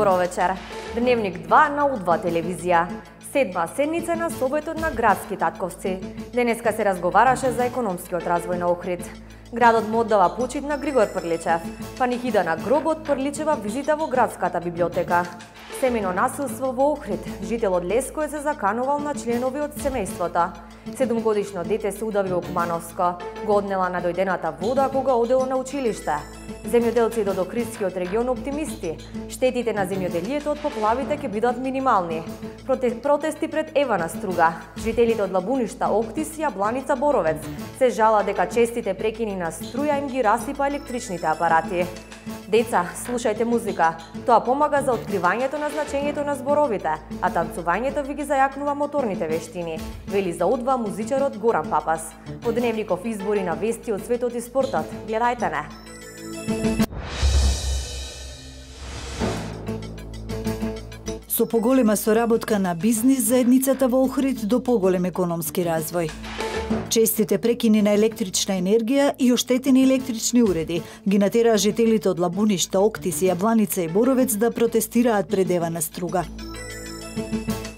Добро вечер. Дневник 2 на У2 телевизија. Седма седница на Советот на градски татковци. Денеска се разговараше за економскиот развој на Охрид. Градот му оддава почит на Григор Прличев. Панихида на гробот Прличева визита во градската библиотека. Семено насилство во Охрид. Жителот Леско се заканувал на членови од семејството. 7-годишно дете се удави во Кумановско. Го однела надојдената вода кога одело на училиште. Земјоделци од Охридскиот регион оптимисти. Штетите на земјоделието од поплавите ќе бидат минимални. Протести пред Евана Струга. Жителите од Лабуништа, Октис, Јабланица, Боровец се жала дека честите прекини на струја им ги расипа електричните апарати. Деца, слушајте музика. Тоа помага за откривањето на значењето на зборовите, а танцувањето ви ги зајакнува моторните вештини, вели за У2 музичарот Горан Папас. Во дневников избори на вести од светот и спортот. Гледајте не. Со поголема соработка на бизнис заедницата во Охрид до поголем економски развој. Честите прекини на електрична енергија и оштетени електрични уреди ги натераа жителите од Лабуништа, Октис, Јабланица и Боровец да протестираат пред Евана Струга.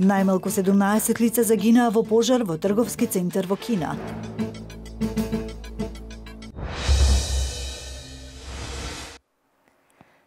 Најмалку 17 лица загинаа во пожар во трговски центар во Кина.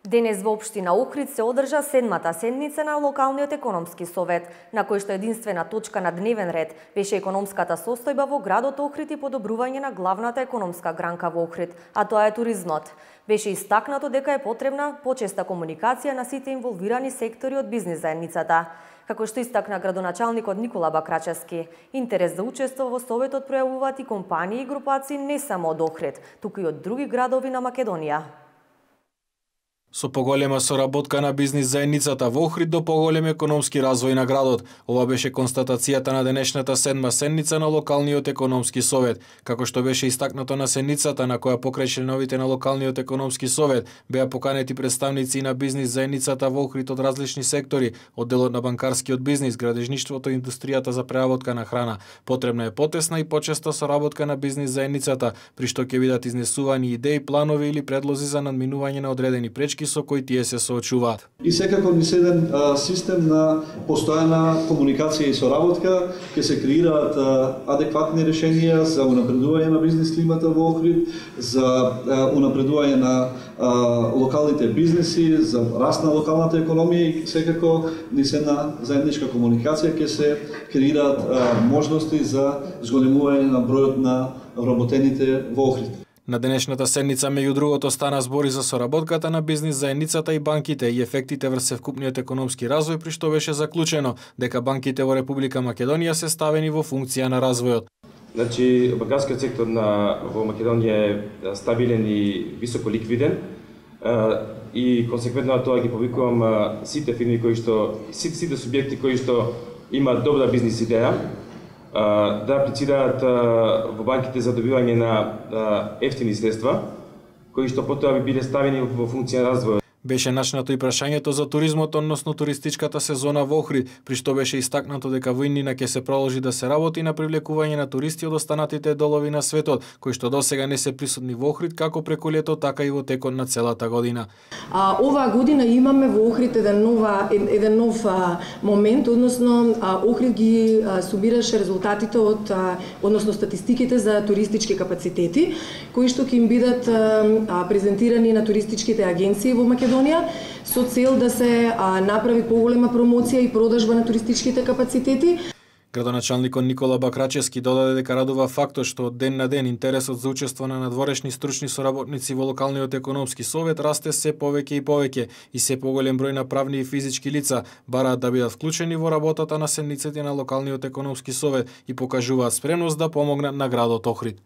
Денес во општина Охрид се одржа седмата седница на локалниот економски совет, на кој што единствена точка на дневен ред беше економската состојба во градот Охрид и подобрување на главната економска гранка во Охрид, а тоа е туризмот. Беше истакнато дека е потребна почеста комуникација на сите инволвирани сектори од бизнис заедницата. Како што истакна градоначалникот Никола Бакрачевски, интерес за учество во советот пројавуваат и компании и групации не само од Охрид, туку и од други градови на Македонија. Со поголема соработка на бизнис заедницата во Охрид до поголем економски развој на градот. Ова беше констатацијата на денешната седма седница на локалниот економски совет. Како што беше истакнато на седницата на која покрај членовите на локалниот економски совет беа поканети представници на бизнис заедницата во Охрид од различни сектори, од делот на банкарскиот бизнис, градежништвото и индустријата за преработка на храна. Потребна е потесна и почеста соработка на бизнис заедницата, при што ќе бидат изнесувани идеи, планови или предлози за надминување на одредени пречки со кои тие се соочуваат. И секако низ еден систем на постојана комуникација и соработка ќе се креираат адекватни решенија за унапредување на бизнис климата во Охрид, за унапредување на локалните бизниси, за раст на локалната економија и секако низ една заедничка комуникација ќе се креираат можности за зголемување на бројот на вработените во Охрид. На денешната седница меѓу другото стана збори за соработката на бизнис заедницата и банките и ефектите врз севкупниот економски развој, при што беше заклучено дека банките во Република Македонија се ставени во функција на развојот. Значи, банкарскиот сектор во Македонија е стабилен и високо ликвиден и консеквентно на тоа ги повикувам сите фирми сите субјекти кои што имаат добра бизнис идеја да аплицираат во банките за добивање на ефтини средства, кои што потоа би биле ставени во функција на развој. Беше начнато и прашањето за туризмот, односно туристичката сезона во Охрид, при што беше истакнато дека во иднина ќе се продолжи да се работи на привлекување на туристи од останатите делови на светот, кои што досега не се присутни во Охрид како преку лето, така и во текот на целата година. Оваа година имаме во Охрид еден нов момент, односно Охрид ги сумираше резултатите односно статистиките за туристички капацитети, кои што ќе им бидат презентирани на туристичките агенции во Македонија со цел да се направи поголема промоција и продажба на туристичките капацитети. Градоначалникот Никола Бакрачевски додаде дека радува фактот што од ден на ден интересот за учество на надворешни стручни соработници во локалниот економски совет расте се повеќе и повеќе и се поголем број на правни и физички лица бараат да бидат вклучени во работата на седниците на локалниот економски совет и покажуваат спремност да помогнат на градот Охрид.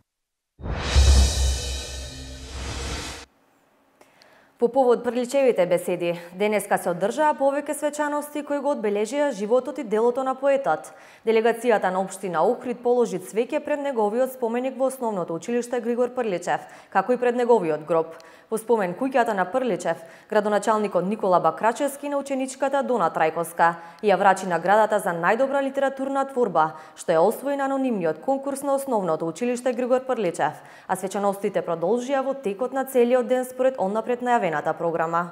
По повод Прличевите беседи, денеска се одржаа повеќе свечаности кои го одбележија животот и делото на поетот. Делегацијата на општина Охрид положи цвеќе пред неговиот споменик во основното училиште Григор Прличев, како и пред неговиот гроб. Во спомен куќата на Прличев, градоначалникот Никола Бакрачевски на ученичката Дона Трајковска ја врачи наградата за најдобра литературна творба, што е освои на анонимниот конкурс на основното училиште Григор Прличев, а свечаностите продолжија во текот на целиот ден според оннапред најавената програма.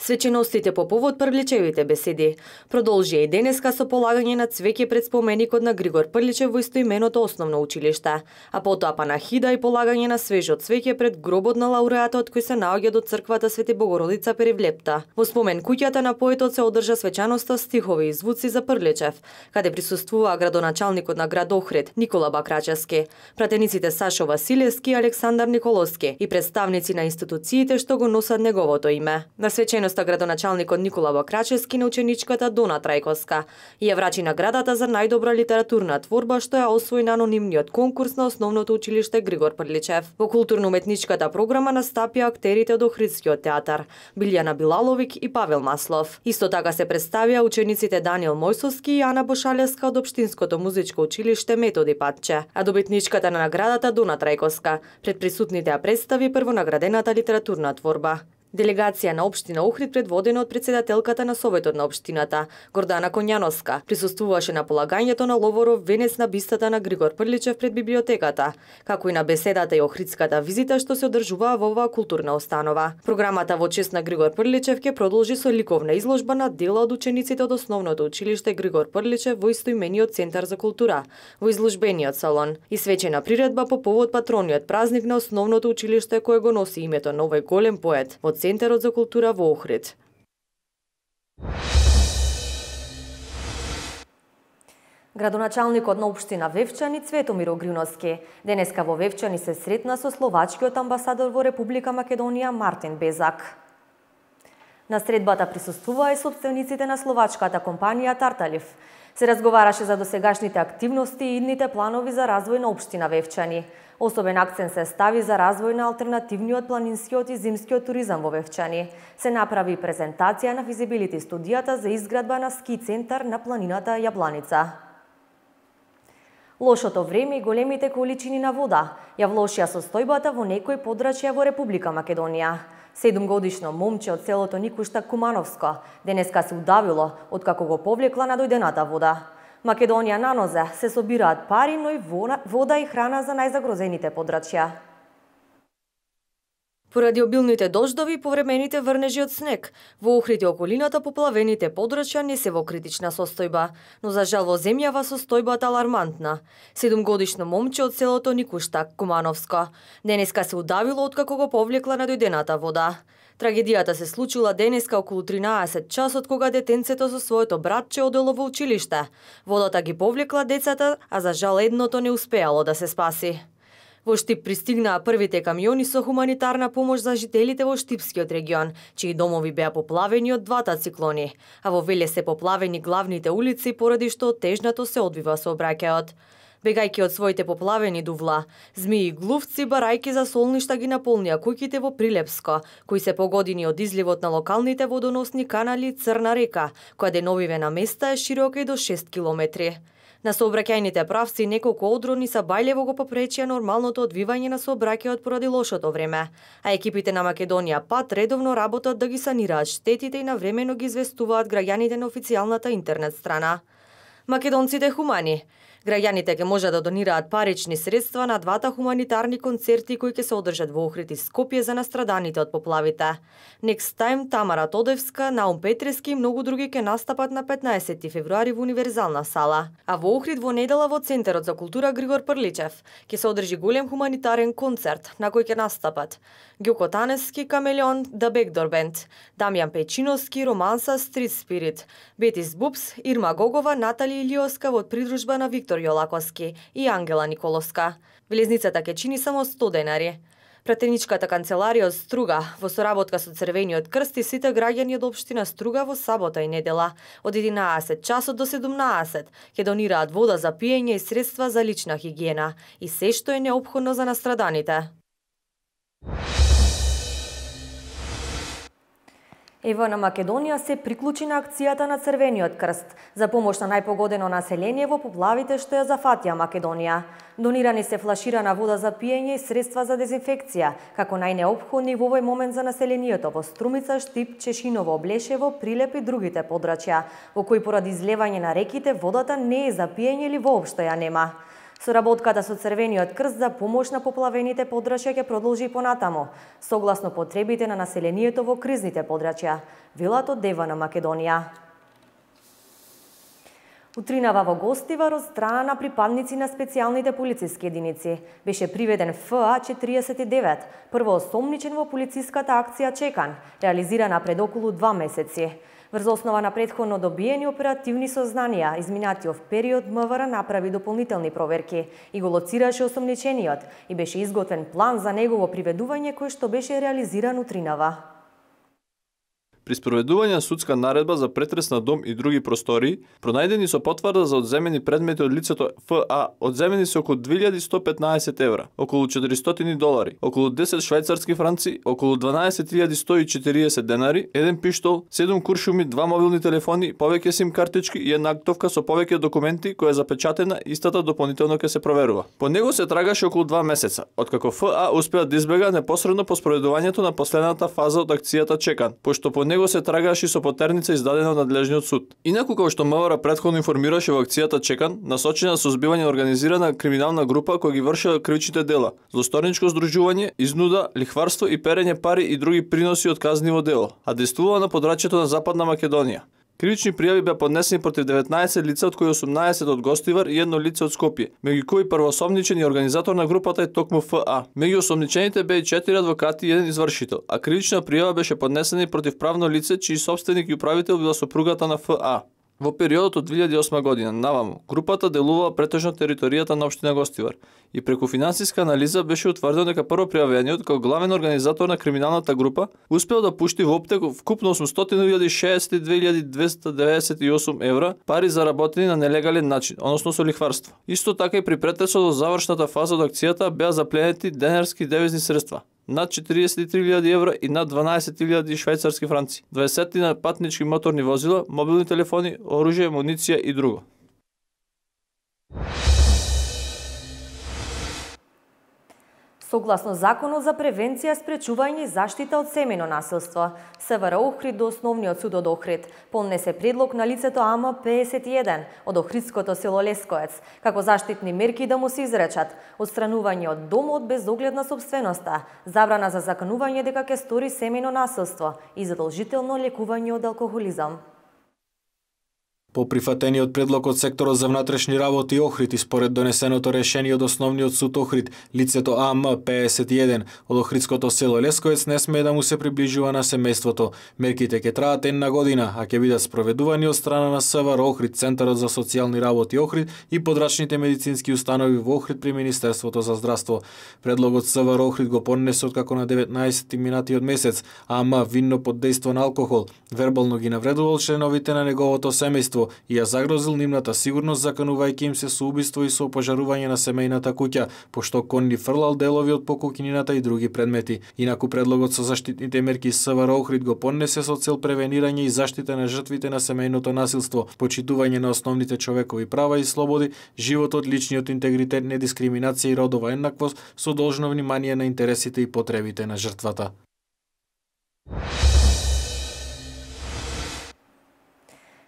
Свеченостите по повод Прличевите беседи продолжија и денеска со полагање на цвеќе пред споменикот на Григор Прличев во истоименото основно училиште, а потоа панахида и полагање на свежо цвеќе пред гробот на лауреатот кој се наоѓа до црквата Свети Богородица Перевлепта. Во спомен куќата на поетот се одржа свечаноста стихови и звуци за Прличев, каде присуствуваа градоначалникот на град Охрид Никола Бакрачевски, пратениците Сашо Василевски и Александар Николовски и представници на институциите што го носат неговото име. На свеченоста градоначалникот Никола Бакрачевски на ученичката Дона Трајковска ја врачи наградата за најдобра литературна творба што ја освои на анонимниот конкурс на основното училиште Григор Прличев. Во културно-уметничката програма настапија актерите од Охридскиот театар Билјана Билаловик и Павел Маслов. Исто така се представија учениците Даниел Мојсовски и Ана Бошалевска од Општинското музичко училиште Методи Патче, а добитничката на наградата Дона Трајковска пред присутните ја представи првонаградената литературна творба. Делегација на општина Охрид предводена од претседателката на Советот на општината Гордана Коњановска присуствуваше на полагањето на ловоров венец на бистата на Григор Прличев пред библиотеката, како и на беседата и охридската визита што се одржуваа во оваа културна установа. Програмата во чест на Григор Прличев ќе продолжи со ликовна изложба на дела од учениците од основното училиште Григор Прличев во истоимениот центар за култура, во изложбениот салон и свечена приредба по повод патрониот празник на основното училиште кое го носи името на овој голем поет во Центарот за култура во Охрид. Градоначалникот на општина Вевчани Цветомир Огриновски денеска во Вевчани се сретна со словачкиот амбасадор во Република Македонија Мартин Безак. На средбата присуствуваа и сопствениците на словачката компанија Тарталив. Се разговараше за досегашните активности и идните планови за развој на општина Вевчани. Особен акцент се стави за развој на алтернативниот планинскиот и зимскиот туризам во Вевчани. Се направи презентација на физибилити студијата за изградба на ски центар на планината Јабланица. Лошото време и големите количини на вода ја влошија состојбата во некои подрачја во Република Македонија. 7-годишно момче од селото Никуштак Кумановско денеска се удавило откако го повлекла надојдената вода. Македонија на нозе се собираат пари, но и вода и храна за најзагрозените подрачја. Поради обилните дождови и повремените врнежи од снег, во Охрид и околината поплавените подрачја не се во критична состојба, но за жал во земјава состојбата алармантна. 7-годишно момче од селото Никуштак Кумановско денеска се удавило откако го повлекла надојдената вода. Трагедијата се случила денеска околу 13 часот кога детенцето со своето братче одело во училиште. Водата ги повлекла децата, а за жал едното не успеало да се спаси. Во Штип пристигнаа првите камиони со хуманитарна помош за жителите во Штипскиот регион, чии домови беа поплавени од двата циклони, а во Велес се поплавени главните улици поради што тежнато се одвива сообраќајот. Бегајќи од своите поплавени дувла, змии и глувци барајки за солништа ги наполнија куќите во Прилепско, кои се погодини од изливот на локалните водоносни канали Црна река, која деновиве на места е широка и до 6 километри. На сообраќајните правци неколку одрони са бајлево го попречија нормалното одвивање на сообраќајот поради лошото време, а екипите на Македонија Пат редовно работат да ги санираат штетите и навремено ги известуваат граѓаните на официјалната интернет страна. Македонците хумани. Граѓаните ќе можат да донираат парични средства на двата хуманитарни концерти кои ќе се одржат во Охрид и Скопје за настраданите од поплавите. Next Time, Тамара Тодевска, Наум Петрески и многу други ќе настапат на 15 февруари во Универзална сала. А во Охрид во недела во Центарот за култура Григор Прличев ќе се одржи голем хуманитарен концерт на кој ќе настапат Ѓуко Таневски, Камелеон, The Backdoor Band, Дамјан Пејчиновски, Романса, Street Spirit, Бетис Бубс, Ирма Гогова, Натали Илиоска во придружба на Виктор Јолаковски и Ангела Николовска. Влезницата ќе чини само 100 денари. Пратеничката канцеларија од Струга во соработка со Црвениот крст и сите граѓани од општина Струга во сабота и недела од 11 часот до 17 ќе донираат вода за пиење и средства за лична хигиена и се што е неопходно за настраданите. Ево на Македонија се приклучи на акцијата на Црвениот крст за помош на најпогодено население во поплавите што ја зафатија Македонија. Донирани се флаширана вода за пиење и средства за дезинфекција, како најнеопходни во овој момент за населението во Струмица, Штип, Чешиново, Блешево, Прилеп и другите подрачја, во кои поради излевање на реките водата не е за пиење или воопшто ја нема. Соработката со Црвениот крст за помош на поплавените подрачја ќе продолжи и понатамо, согласно потребите на населението во кризните подрачја, велат од Дева на Македонија. Утринава во Гостивар од страна на припадници на специјалните полициски единици беше приведен ФА-49, првоосомничен во полициската акција Чекан, реализирана пред околу 2 месеци. Врз основа на претходно добиени оперативни сознанија, изминатиот период МВР направи дополнителни проверки и го лоцираше осомничениот и беше изготвен план за негово приведување кој што беше реализиран утринава. При спроведување на судска наредба за претрес на дом и други простории, пронајдени со потврда за одземени предмети од лицето ФА, одземени се околу 2115 евра, околу $400, околу 10 швајцарски франци, околу 12140 денари, еден пиштол, 7 куршуми, 2 мобилни телефони, повеќе сим картички и една актовка со повеќе документи која е запечатена, истата дополнително ќе се проверува. По него се трагаше околу 2 месеца, откако ФА успеа да избега непосредно по спроведувањето на последната фаза од акцијата Чекан, пошто по него се трагаше со потерница издадена од надлежниот суд. Инаку, како што МВР претходно информираше во акцијата Чекан, насочена со збивање на организирана криминална група која ги вршела кривичните дела, злосторничко здружување, изнуда, лихварство и перење пари и други приноси од казниво дело, а действувала на подрачјето на Западна Македонија. Кривични пријави беа поднесени против 19 лица, од кои 18 од Гостивар и едно лице од Скопје, меѓу кои првоосомничен и организатор на групата е токму ФА. Меѓу осомничените беа и 4 адвокати и еден извршител, а кривична пријава беше поднесена и против правно лице чиј собственик и управител била сопругата на ФА. Во периодот од 2008 година наваму, групата делувала претежно територијата на општина Гостивар и преку финансиска анализа беше утврдено дека првопријавениот како главен организатор на криминалната група успел да пушти во оптек вкупно 862.298 евра пари заработени на нелегален начин, односно со лихварство. Исто така и при претресот во завршната фаза од акцијата беа запленети денарски девизни средства над 43.000 евра и над 12.000 швајцарски франци, 20 патнички моторни возила, мобилни телефони, оружје, муниција и друго. Согласно Законот за превенција, спречување и заштита од семејно насилство, СВР Охрид до Основниот суд од Охрид поднесе предлог на лицето АМ-51 од Охридското село Лесковец, како заштитни мерки да му се изречат отстранување од домот без оглед на сопственоста, забрана за заканување дека ќе стори семејно насилство и задолжително лекување од алкохолизам. По прифатениот предлог од секторот за внатрешни работи Охрид и според донесеното решение од Основниот суд Охрид, лицето АМ-51 од Охридското село Лесковец не смее да му се приближува на семејството. Мерките ќе траат една година, а ќе бидат спроведувани од страна на СВР Охрид, Центарот за социјални работи Охрид и подрачните медицински установи во Охрид при Министерството за здравство. Предлогот СВР Охрид го поднесе откако на 19 минатиот месец АМ винно под дејство на алкохол вербално ги навредувал членовите на неговото семејство и ја загрозил нивната сигурност, заканувајќи им се со убиство и со опожарување на семејната куќа, пошто конни фрлал делови од покукинината и други предмети. Инаку предлогот со заштитните мерки СВР Охрид го поднесе со цел превенирање и заштита на жртвите на семејното насилство, почитување на основните човекови права и слободи, животот, личниот интегритет, недискриминација и родова еднаквост со должно внимание на интересите и потребите на жртвата.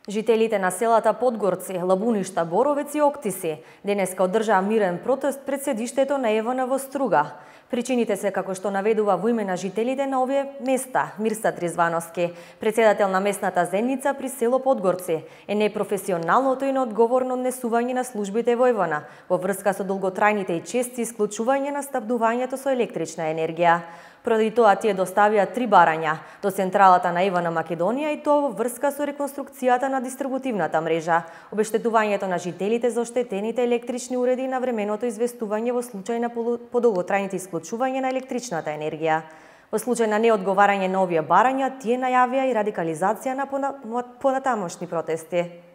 Жителите на селата Подгорци, Лабуништа, Боровец и Октиси денеска одржаа мирен протест пред седиштето на ЕВН во Струга. Причините се како што наведува во име на жителите на овие места Мирсат Ризвановски, председател на местната заедница при село Подгорци, е непрофесионалното и неодговорно однесување на службите во ЕВН во врска со долготрајните и чести исклучување на снабдувањето со електрична енергија. Поради тоа тие доставија 3 барања до централата на ЕВН Македонија и тоа во врска со реконструкцијата на дистрибутивната мрежа, обештетувањето на жителите за оштетените електрични уреди и навременото известување во случај на подолготрајните исклучување на електричната енергија. Во случај на неодговарање на овие барања, тие најавија и радикализација на понатамошни протести.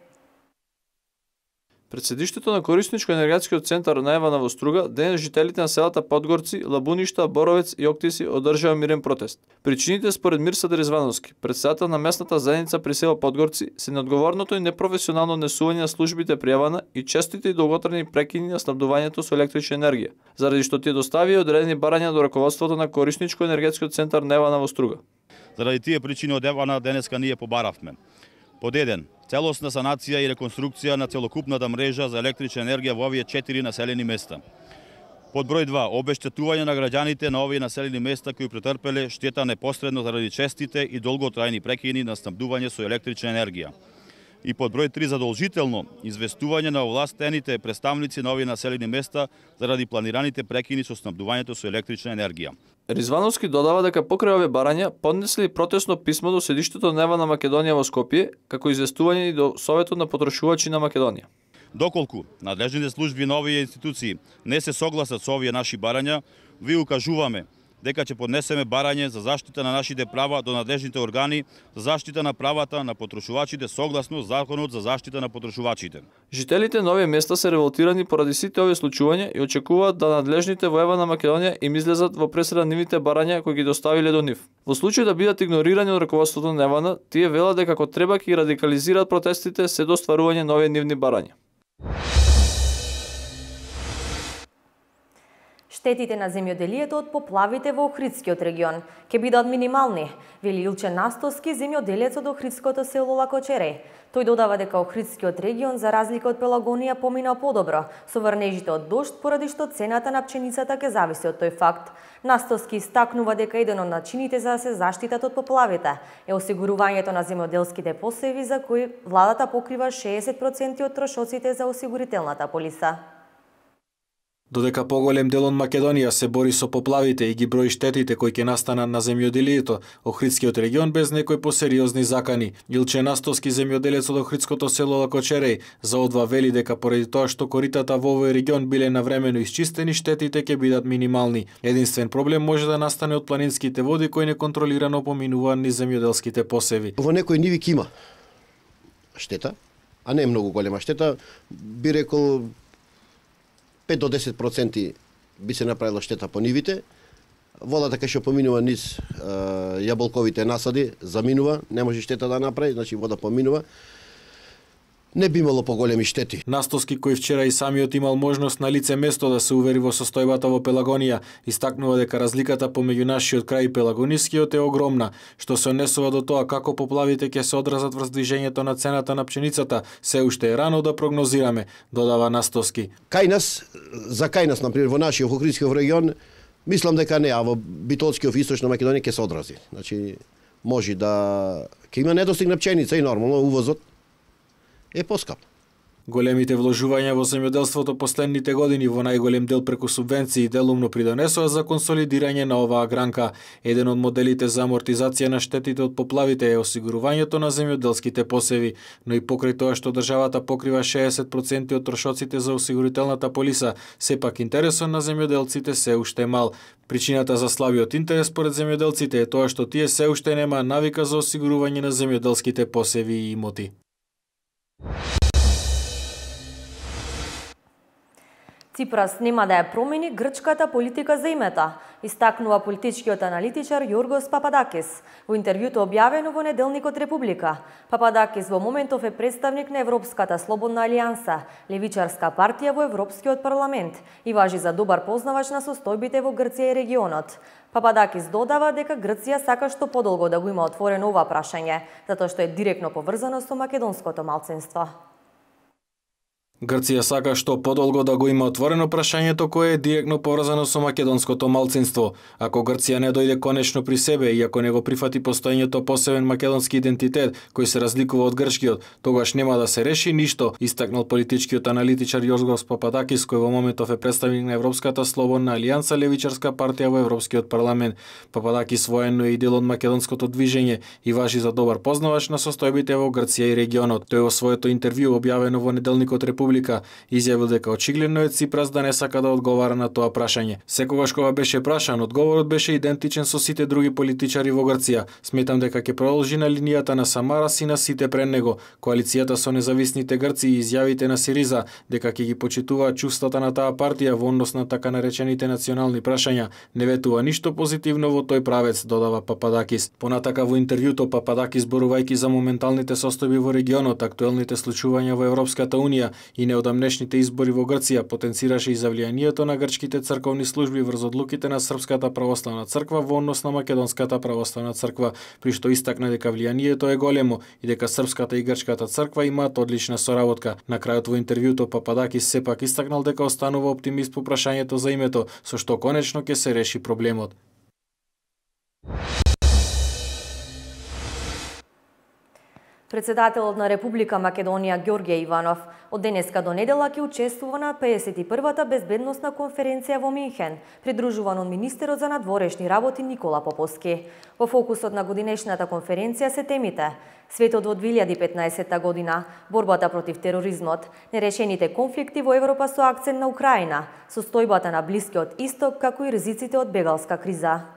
Пред седиштето на Корисничко-енергетскиот центар на ЕВН во Струга, денес жителите на селата Подгорци, Лабуништа, Боровец и Октиси одржаа мирен протест. Причините според Мирсат Ризвановски, председател на местната заедница при село Подгорци, се неодговорното и непрофесионално однесување на службите при ЕВН и честите и долготрajни прекини на снабдувањето со електрична енергија, заради што тие доставија одредени барања до раководството на Корисничко-енергетскиот центар на ЕВН во Струга. Заради тие причини од ЕВН денеска ние побаравме Под 1. Целосна санација и реконструкција на целокупната мрежа за електрична енергија во овие 4 населени места. Под број 2. Обештетување на граѓаните на овие населени места кои претрпеле штета непосредно заради честите и долготрајни прекини на снабдување со електрична енергија. И под број 3. Задолжително известување на овластените представници на овие населени места заради планираните прекини со снабдувањето со електрична енергија. Ризвановски додава дека покрај овие барања поднесли протестно писмо до седиштето на ЕВА на Македонија во Скопје, како известување и до Советот на потрошувачи на Македонија. Доколку надлежните служби на овие институции не се согласат со овие наши барања, ви укажуваме дека ќе поднесеме барање за заштита на нашите права до надлежните органи за заштита на правата на потрошувачите согласно Законот за заштита на потрошувачите. Жителите на овие места се револтирани поради сите овие случувања и очекуваат да надлежните во ЕВА на Македонија им излезат во пресред нивните барања кои ги доставиле до нив. Во случај да бидат игнорирани од раководството на ЕВА, тие велат дека како треба ќе радикализираат протестите се до стварување на овие нивни барања. Штетите на земјоделието од поплавите во Охридскиот регион ќе бидат минимални, вели Илче Настоски, земјоделец од Охридското село Лакочере. Тој додава дека Охридскиот регион, за разлика од Пелагонија, помина подобро со врнежите од дожд, поради што цената на пченицата ќе зависи од тој факт. Настоски истакнува дека еден од начините за да се заштитат од поплавите е осигурувањето на земјоделските посеви, за кои владата покрива 60% од трошоците за осигурителната полиса. Додека поголем дел од Македонија се бори со поплавите и ги брои штетите кои ќе настанат на земјоделието, Охридскиот регион без некои посериозни закани. Илче Настоски, земјоделец од Охридското село Лакочереј, за одва вели дека поради тоа што коритата во овој регион биле навремено исчистени, штетите ќе бидат минимални. Единствен проблем може да настане од планинските води кои неконтролирано поминуваат низ земјоделските посеви. Во некои ниви ќе има штета, а не многу голема штета, би рекол 5 до 10% би се направила штета по нивите. Водата кај што поминува низ јаболковите насади, заминува, не може штета да направи, значи вода поминува. Не би имало поголеми штети. Настоски, кој вчера и самиот имал можност на лице место да се увери во состојбата во Пелагонија, истакнува дека разликата помеѓу нашиот крај и пелагонискиот е огромна, што се однесува до тоа како поплавите ќе се одразат врз движењето на цената на пшеницата, се уште е рано да прогнозираме, додава Настоски. Кај нас, например, во нашиот Охридскиот регион, мислам дека не, а во Битолскиот и Источна Македонија ќе се одрази. Значи, може да ќе има недостиг на пченица и нормално увозот е поскап. Големите вложувања во земјоделството последните години во најголем дел преку субвенции делумно придонесоа за консолидирање на оваа гранка. Еден од моделите за амортизација на штетите од поплавите е осигурувањето на земјоделските посеви, но и покрај тоа што државата покрива 60% од трошоците за осигурителната полиса, сепак интересот на земјоделците се уште мал. Причината за слабиот интерес според земјоделците е тоа што тие се уште нема навика за осигурување на земјоделските посеви и имоти. Ципрас нема да ја промени грчката политика за имета, истакнува политичкиот аналитичар Јоргос Пападакис во интервјуто објавено во неделникот Република. Пападакис во моментов е представник на Европската слободна алијанса, левичарска партија во Европскиот парламент и важи за добар познавач на состојбите во Грција и регионот. Пападакис додава дека Грција сака што подолго да го има отворено ова прашање, затоа што е директно поврзано со македонското малцинство. Грција сака што подолго да го има отворено прашањето кое е директно поврзано со македонското малцинство. Ако Грција не дојде конечно при себе и ако не го прифати постоењето посебен македонски идентитет кој се разликува од грчкиот, тогаш нема да се реши ништо, истакнал политичкиот аналитичар Јоргос Пападакис, кој во моментов е представник на Европската слободна алијанса, левичарска партија во Европскиот парламент. Пападакис военно е и дел од македонското движење и важи за добар познавач на состојбите во Грција и регионот. Тој во своето интервју објавено во неделникот Република изјавил дека очигледно е Ципрас да не сака да одговара на тоа прашање. Секогаш кога беше прашан, одговорот беше идентичен со сите други политичари во Грција. Сметам дека ќе продолжи на линијата на Самарас и на сите пред него. Коалицијата со независните грци и изјавите на Сириза дека ќе ги почитуваат чувствата на таа партија во однос на така наречените национални прашања не ветува ништо позитивно во тој правец, додава Пападакис. Понатака во интервјуто Пападакис зборувајќи за моменталните состојби во регионот, актуелните случувања во Европската унија и неодамнешните избори во Грција потенцираше и завлијанието на грчките црковни служби врз одлуките на Српската православна црква во однос на Македонската православна црква, при што истакна дека влијанието е големо и дека Српската и Грчката црква имаат одлична соработка. На крајот во интервјуто Пападакис сепак истакнал дека останува оптимист по прашањето за името, со што конечно ќе се реши проблемот. Председателот на Република Македонија Ѓорѓе Иванов од денеска до недела ќе учествува на 51-та безбедносна конференција во Минхен, придружуван од министерот за надворешни работи Никола Поповски. Во фокусот на годинешната конференција се темите: светот во 2015 година, борбата против тероризмот, нерешените конфликти во Европа со акцент на Украина, состојбата на Блискиот Исток, како и ризиците од бегалска криза.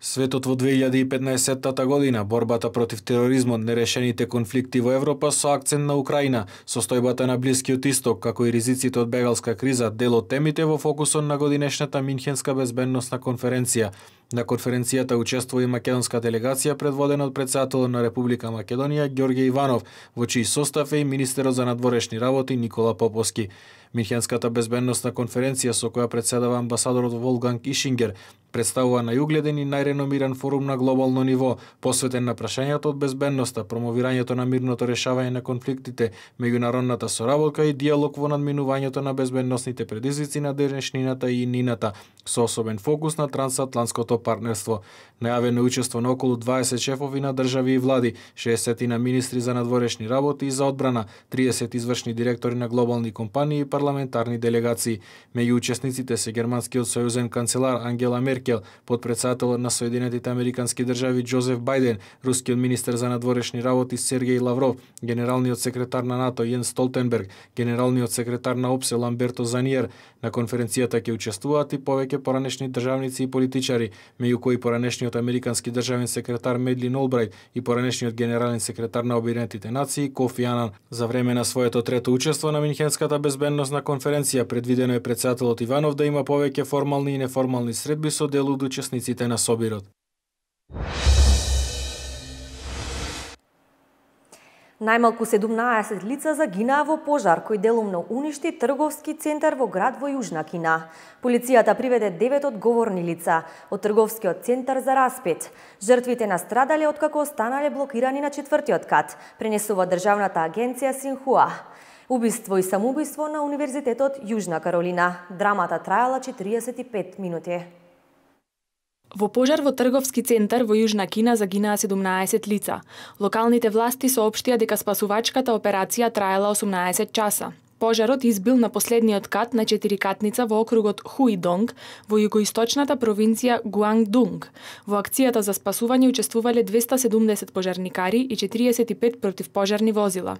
Светот во 2015 година, борбата против тероризмот, нерешените конфликти во Европа со акцент на Украина, состојбата на Блискиот Исток, како и ризиците од бегалска криза, дел од темите во фокусот на годинешната Минхенска безбедносна конференција. На конференцијата учествува и македонска делегација предводена од председателот на Република Македонија Ѓорѓе Иванов, во чиј состав е и министерот за надворешни работи Никола Поповски. Минхенската безбедносна конференција, со која председава амбасадорот Волфганг Ишингер, представува најугледен и најреномиран форум на глобално ниво, посветен на прашањата од безбедноста, промовирањето на мирното решавање на конфликтите, меѓународната соработка и диалог во надминувањето на безбедносните предизвици на денешнината и иднината, со особен фокус на трансатлантското партнерство. Најавено учество на околу 20 шефови на држави и влади, 60 на министри за надворешни работи и за одбрана, 30 извршни директори на глобални компании и парламентарни делегации. Меѓу учесниците се германскиот сојузен канцелар Ангела Меркел, подпредседателот на Соединетите американски држави Џозеф Бајден, рускиот министер за надворешни работи Сергеј Лавров, генералниот секретар на НАТО Јенс Столтенберг, генералниот секретар на ОПСЕ Ламберто Заниер. На конференцијата ќе учествуваат и повеќе поранешни државници и политичари, меѓу кои поранешниот американски државен секретар Медлин Олбрајт и поранешниот генерален секретар на Обединетите нации Кофи Анан. За време на своето трето учество на Минхенската безбедносна конференција предвидено е председателот Иванов да има повеќе формални и неформални средби со дел од учесниците на собирот. Најмалку 17 лица загинаа во пожар кој делумно уништи трговски центар во град во Јужна Кина. Полицијата приведе 9 одговорни лица од трговскиот центар за распет. Жртвите настрадале откако останале блокирани на 4-тиот кат, пренесува државната агенција Синхуа. Убиство и самоубиство на Универзитетот Јужна Каролина. Драмата траела 45 минути. Во пожар во трговски центар во Јужна Кина загинаа 17 лица. Локалните власти соопштија дека спасувачката операција траела 18 часа. Пожарот избил на последниот кат на 4-катница во округот Хуидонг во југоисточната провинција Гуангдунг. Во акцијата за спасување учествувале 270 пожарникари и 45 противпожарни возила.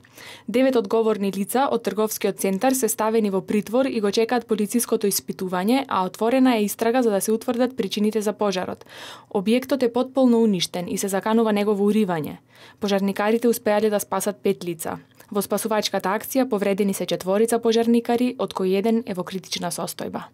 9 одговорни лица од трговскиот центар се ставени во притвор и го чекаат полициското испитување, а отворена е истрага за да се утврдат причините за пожарот. Објектот е потполно уништен и се заканува негово уривање. Пожарникарите успеале да спасат 5 лица. Во спасувачката акција повредени се 4 пожарникари, од кои еден е во критична состојба.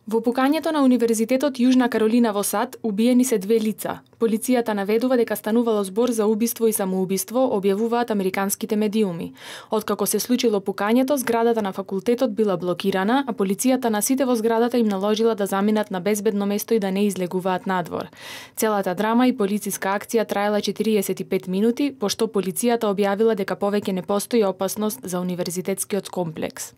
Во пукањето на Универзитетот Јужна Каролина во САД убиени се 2 лица. Полицијата наведува дека станувало збор за убиство и самоубиство, објавуваат американските медиуми. Откако се случило пукањето, зградата на факултетот била блокирана, а полицијата на сите во зградата им наложила да заминат на безбедно место и да не излегуваат надвор. Целата драма и полициска акција траела 45 минути, пошто полицијата објавила дека повеќе не постои опасност за универзитетскиот комплекс.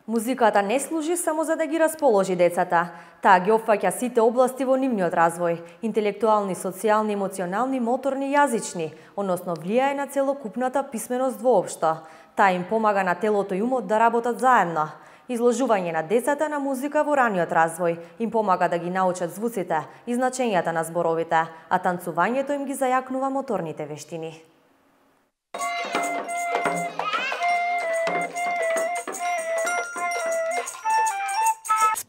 Музиката не служи само за да ги расположи децата. Таа ги опфаќа сите области во нивниот развој: интелектуални, социјални, емоционални, моторни, јазични, односно влијае на целокупната писменост воопшто. Таа им помага на телото и умот да работат заедно. Изложување на децата на музика во раниот развој им помага да ги научат звуците и значењата на зборовите, а танцувањето им ги зајакнува моторните вештини.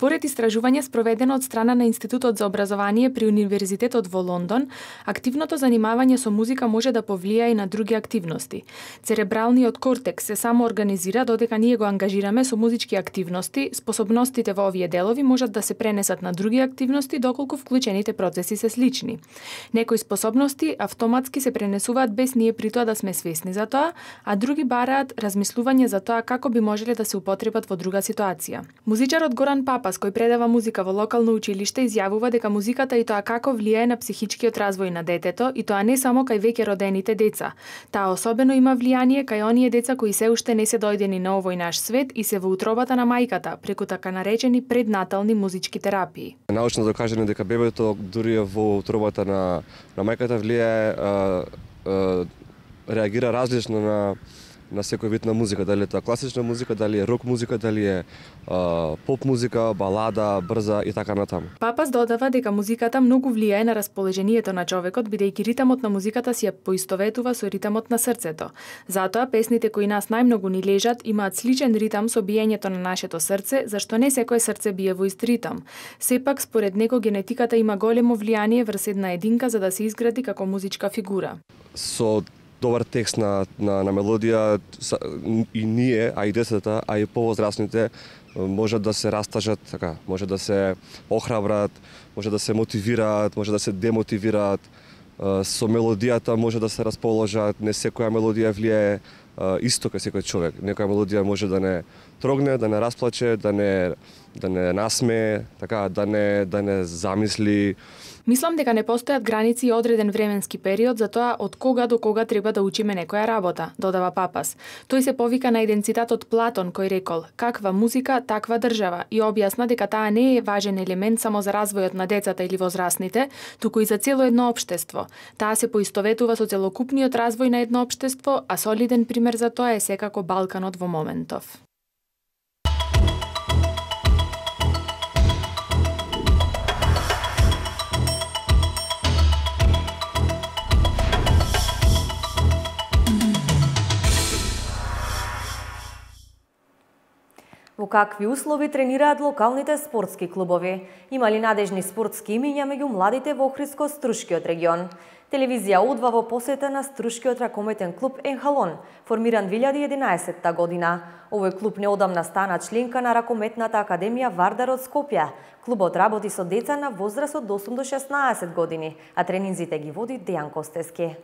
Според истражување спроведено од страна на Институтот за образование при Универзитетот во Лондон, активното занимавање со музика може да повлијае и на други активности. Церебралниот кортекс се само организира додека ние го ангажираме со музички активности, способностите во овие делови можат да се пренесат на други активности доколку вклучените процеси се слични. Некои способности автоматски се пренесуваат без ние при тоа да сме свесни за тоа, а други бараат размислување за тоа како би можеле да се употребат во друга ситуација. Музичарот Горан Папас, кој предава музика во локално училиште, изјавува дека музиката и тоа како влијае на психичкиот развој на детето, и тоа не само кај веќе родените деца. Таа особено има влијание кај оние деца кои се уште не се дојдени на овој наш свет и се во утробата на мајката, преку така наречени преднатални музички терапии. Научно докажано дека бебето дури во утробата на мајката влијае, реагира различно на секој вид на музика, дали е тоа класична музика, дали е рок музика, дали е поп музика, балада, брза и така натаму. Папас додава дека музиката многу влијае на расположението на човекот, бидејќи ритамот на музиката си ја поистоветува со ритамот на срцето. Затоа песните кои нас најмногу ни лежат имаат сличен ритам со биењето на нашето срце, зашто не секое срце бие во ист ритам. Сепак, според него, генетиката има големо влијание врз една единка за да се изгради како музичка фигура. Со добар текст на мелодија и ние, а и децата, а и повозрастните можат да се растажат, така, може да се охрабрат, може да се мотивираат, може да се демотивираат. Со мелодијата може да се расположат, не секоја мелодија влијае исто кај секој човек. Некоја мелодија може да не трогне, да не расплаче, да не насмее, така, да не замисли. Мислам дека не постојат граници и одреден временски период за тоа од кога до кога треба да учиме некоја работа, додава Папас. Тој се повика на еден цитат од Платон кој рекол: "Каква музика, таква држава", и објасна дека таа не е важен елемент само за развојот на децата или возрастните, туку и за цело едно општество. Таа се поистоветува со целокупниот развој на едно општество, а солиден пример за тоа е секако Балканот во моментов. Во какви услови тренираат локалните спортски клубови? Има ли надежни спортски имиња меѓу младите во Охридско-Струшкиот регион? Телевизија Удва во посета на Струшкиот ракометен клуб Енхалон, формиран 2011 година. Овој клуб неодамна стана членка на ракометната академија Вардар од Скопје. Клубот работи со деца на возраст од 8 до 16 години, а тренинзите ги води Дејан Костески.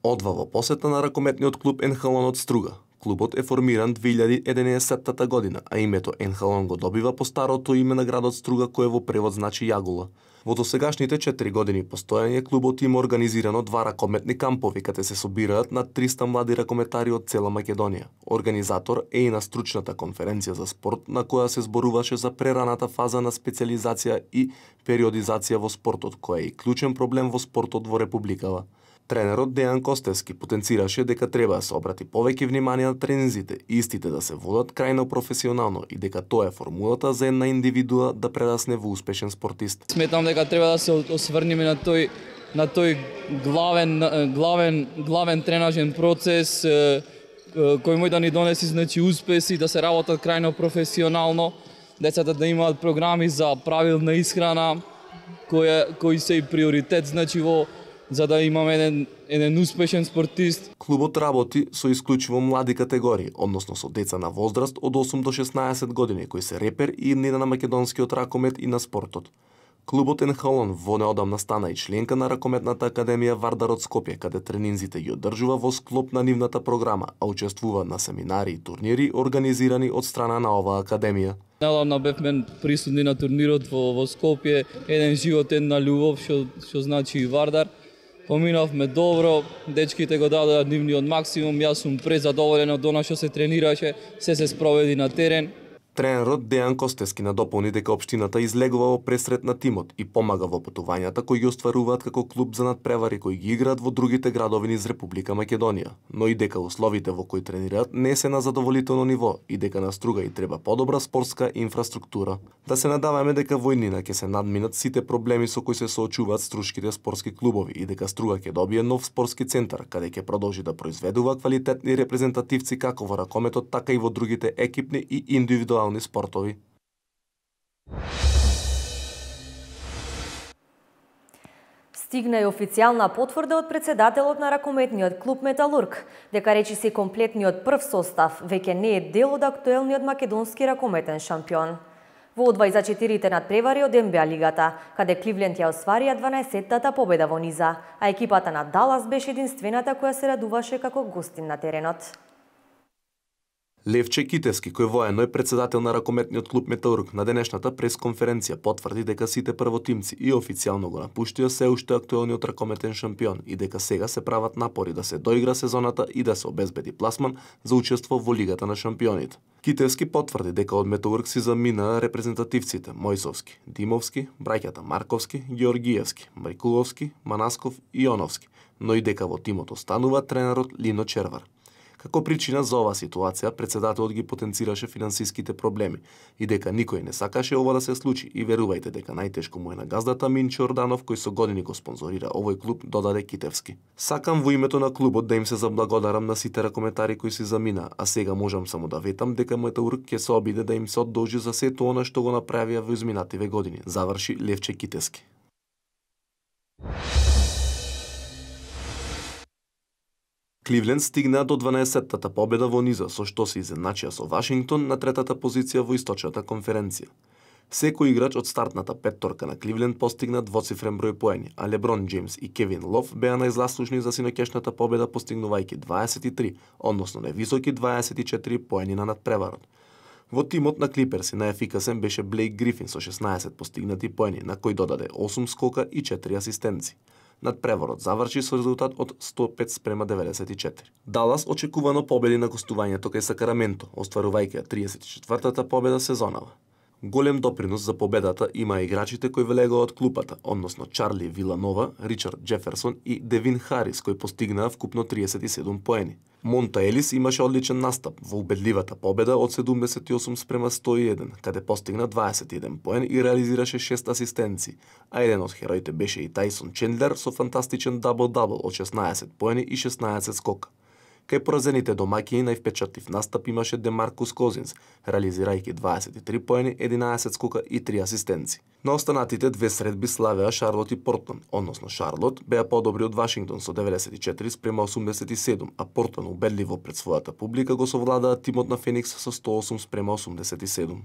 Одва во посета на ракометниот клуб Енхалон од Струга. Клубот е формиран 2011 година, а името Енхалон го добива по старото име на градот Струга, кое во превод значи јагула. Во досегашните 4 години постојање клубот има организирано 2 ракометни кампови, каде се собираат над 300 млади ракометари од цела Македонија. Организатор е и на стручната конференција за спорт, на која се зборуваше за прераната фаза на специализација и периодизација во спортот, која е и клучен проблем во спортот во Републикава. Тренерот Дејан Костески потенцираше дека треба да се обрати повеќе внимание на тренинзите и истите да се водат крајно професионално и дека тоа е формулата за една индивидуа да прерасне во успешен спортист. Сметам дека треба да се осврнеме на тој главен тренажен процес кој може да ни донеси успеси, да се работат крајно професионално, децата да имаат програми за правилна исхрана кои се и приоритет за да имаме еден успешен спортист. Клубот работи со исклучиво млади категории, односно со деца на возраст од 8 до 16 години, кои се репер и иднина на македонскиот ракомет и на спортот. Клубот Енхалон во неодамна стана и членка на ракометната академија Вардар од Скопје, каде тренинзите ги одржува во склоп на нивната програма, а учествува на семинари и турнири организирани од страна на оваа академија. Неодамна бевме присутни на турнирот во Скопје, еден живот, една љубов, што значи и Вардар. Поминавме добро, дечките го дадоа нивниот максимум, јас сум презадоволен од она што се тренираше, се спроведи на терен. Тренерот Дејан Костески надополни дека општината излегува во пресрет на тимот и помага во патувањата кои ги остваруваат како клуб за надпревари кои ги играат во другите градови низ Република Македонија, но и дека условите во кои тренираат не се на задоволително ниво и дека на Струга и треба подобра спортска инфраструктура. Да се надаваме дека во иднина ќе се надминат сите проблеми со кои се соочуваат струшките спортски клубови и дека Струга ќе добие нов спортски центар каде ќе продолжи да произведува квалитетни репрезентативци како во ракометот, така и во другите екипни и индивидуални индивидуални спортови. Стигна и официјална потврда од председателот на ракометниот клуб Металург, дека речиси комплетниот прв состав веќе не е дел од актуелниот македонски ракометен шампион. Во 24-те надпревари од НБА лигата, каде Кливленд ја осварија 12-тата победа во низа, а екипата на Далас беше единствената која се радуваше како гостин на теренот. Левче Китевски, кој воено е председател на ракометниот клуб Металург, на денешната пресконференција потврди дека сите првотимци и официјално го напуштија се уште актуелниот ракометен шампион и дека сега се прават напори да се доигра сезоната и да се обезбеди пласман за учество во Лигата на шампионите. Китевски потврди дека од Металург си замина репрезентативците Мојсовски, Димовски, браќата Марковски, Георгиевски, Мајкуловски, Манасков и Јоновски, но и дека во тимот останува тренерот Лино Червар. Како причина за оваа ситуација, председателот ги потенцираше финансиските проблеми и дека никој не сакаше ова да се случи и верувајте дека најтешко му е на газдата Минчо Орданов кој со години го спонзорира овој клуб, додаде Китевски. Сакам во името на клубот да им се заблагодарам на сите ракометари кои си замина, а сега можам само да ветам дека Металург ќе се обиде да им се одолжи за сето она што го направија во изминативе години, заврши Левче Китевски. Кливленд стигна до 12-тата победа во низа, со што се изедначија со Вашингтон на третата позиција во источната конференција. Секој играч од стартната петторка на Кливленд постигна двоцифрен број поени, а Леброн Джеймс и Кевин Лов беа најзаслужни за синоќешната победа постигнувајќи 23, односно невисоки 24 поени на надпреварот. Во тимот на Клиперси најефикасен беше Блейк Грифин со 16 постигнати поени, на кој додаде 8 скока и 4 асистенци. Надпреварот заврши со резултат од 105:94. Далас очекувано победи на гостувањето кај Сакраменто, остварувајќи 34-тата победа сезонава. Голем допринос за победата има играчите кои влегоа од клупата, односно Чарли Виланова, Ричард Джеферсон и Девин Харис, кои постигнаа вкупно 37 поени. Монта Елис имаше одличен настап во убедливата победа од 78:101, каде постигна 21 поен и реализираше 6 асистенци, а еден од хероите беше и Тајсон Чендлер со фантастичен дабл-дабл од 16 поени и 16 скока. Кај поразените домаќини највпечатлив настап имаше Демаркус Козинс, реализирајќи 23 поени, 11 скока и 3 асистенци. На останатите две средби славеа Шарлот и Портланд, односно Шарлот беа подобри од Вашингтон со 94:87, а Портланд убедливо пред својата публика го совладаа тимот на Феникс со 108:87.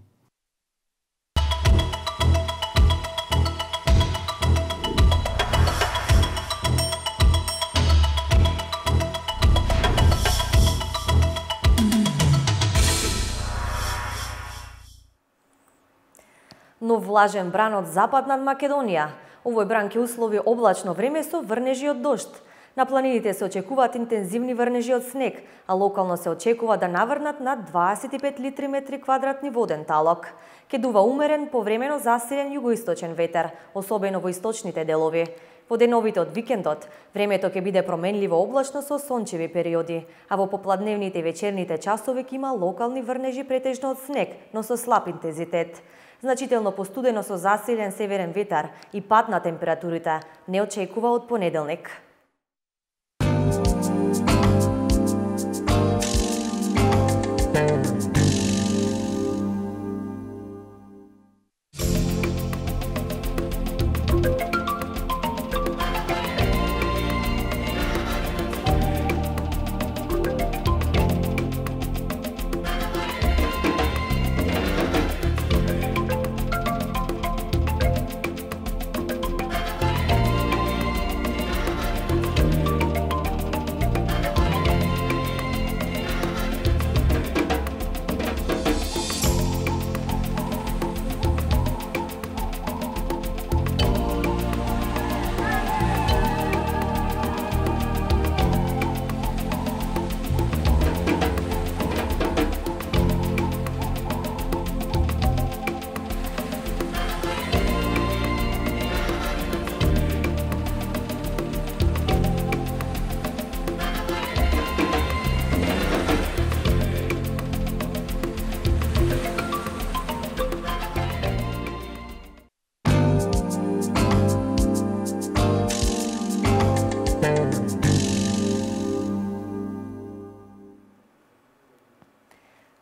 Нов влажен бран од запад над Македонија. Овој бран ќе услови облачно време со врнежи од дожд. На планините се очекуваат интензивни врнежи од снег, а локално се очекува да наврнат над 25 литри метри квадратни воден талок. Ке дува умерен, повремено засилен југоисточен ветер, особено во источните делови. Во деновите од викендот, времето ќе биде променливо облачно со сончеви периоди, а во попладневните и вечерните часови ќе има локални врнежи претежно од снег, но со слаб интензитет. Значително постудено со засилен северен ветар и пад на температурите не очекува од понеделник.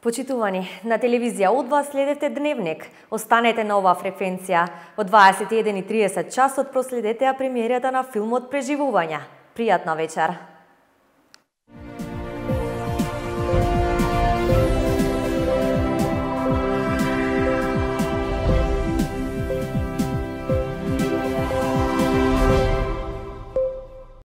Почитувани, на телевизија Удва следете Дневник. Останете на оваа фреквенција. Во 21:30 часот проследете ја премиерата на филмот Преживувања. Пријатна вечер!